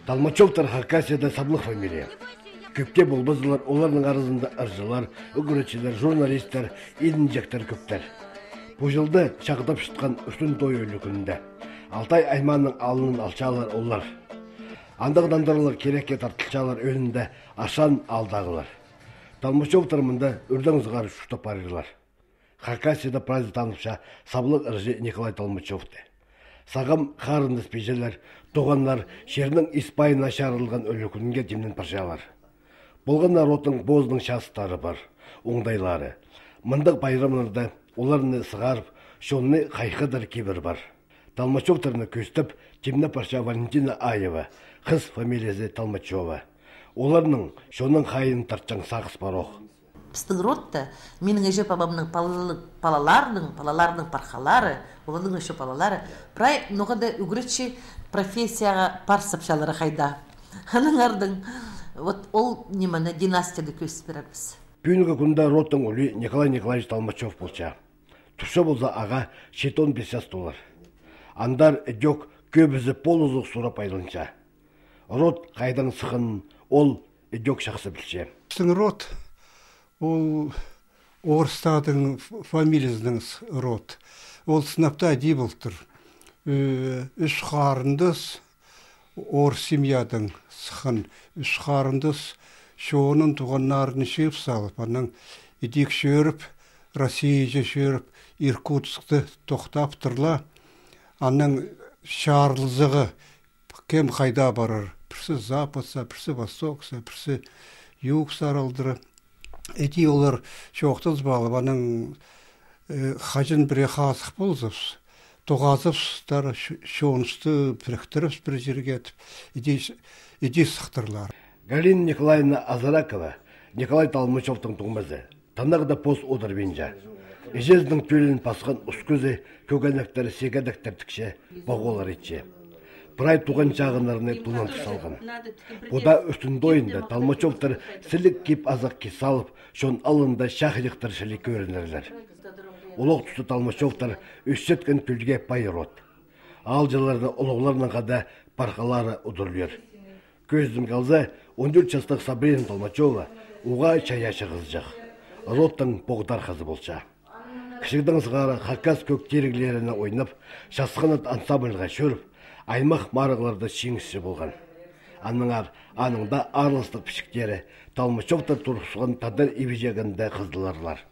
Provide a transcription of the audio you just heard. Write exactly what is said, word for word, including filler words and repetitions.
Талмачевтар Хакасияда саблық фамилия. Көпте болбазылар, олардың арызында ыржылар, үгіретшілер, журналистер, едінжектер көптер. Бұл жылды шақытап шытқан үстін той өлі күнінде. Алтай айманның алынын алчалар олар. Андағдандырылар керекке тартылчалар önünde ашан алдағылар. Талмачевтар мұнда үрдің зығары шүштап барырлар. Хакасияда праздник танымша саблық ыржы Николай Талмачевты. Сағым қарынды спежелер, тоғанлар шерінің испайына шарылған өлі күнге демнен паршалар. Болған народың боздың шастары бар, оңдайлары. Мындық байрамларда оларыны сығарып, шонны қайқыдар кебір бар. Талмачевтарыны көстіп, темне парша Валентина Аева, қыз фамилиясы Талмачева. Оларының шонның қайын тартчан сағыс бароқ. Біздің родта, менің әже бабамның палаларының, палаларының пархалары, олардың әже палалары, прай ноғада үгіретші профессияға пар сапшалары қайда. Аның ардың, вот ол неманы династияды көсіп береміз. Бүгінгі күнде родтың өлі Николай Николаевич Талмачев болча. Тұрша болса аға шетон бесяс доллар. Андар өдек көбізі полузық сұрап айлынша. Род қайдан сықын, ол өдек шақсы білше. Біздің род, ол орыстардың фамилиясының род. Ол сынапта әдей болтыр. Үш қарындыз ор семьядың сықын. Үш қарындыз шоғының туғаннарын шеп салып, анның едек шөріп, Россия шөріп, Иркутскты тоқтап тұрла. Анның шарлызығы кем қайда барыр. Бірсі западса, бірсі востокса, бірсі юг саралдыры. Эти олар шоқтыз балып, анның қажын біре қасық болзыпс. Тоғазыпстар шоңысты біріктіріпс бір жерге етіп, еде сықтырлар. Галина Николаевна Азаракова, Николай Талмачевтың туғмазы. Танағыда пост одыр бенжа. Ежездің төлін пасқан ұскөзі, көгенектері сегедектер тікше, бағолар етше. Прай туған жағынарыны тунан тұсалған. Бұда үстінді ойында Талмачевтар сілік кеп азақ кесалып, шон алында шақылықтар шілі көрінерлер. Олық тұсы Талмачевтар үстеткен күлге пайырот. Ал жыларда олығларының қада парқалары ұдырлер. Көздің қалза он төрт жастық Сабрина Талмачева уға чая шығызжақ. Роттың боғдар қызы болша. Кішігдің сығары Хакас көк терігілеріне ойнап, шасқанат ансамбльға шөріп, аймақ марығыларда шеңісші болған. Аныңар, аныңда арлыстық пішіктері Талмачевтар тұрғысыған тадар ебежегінде қыздыларлар.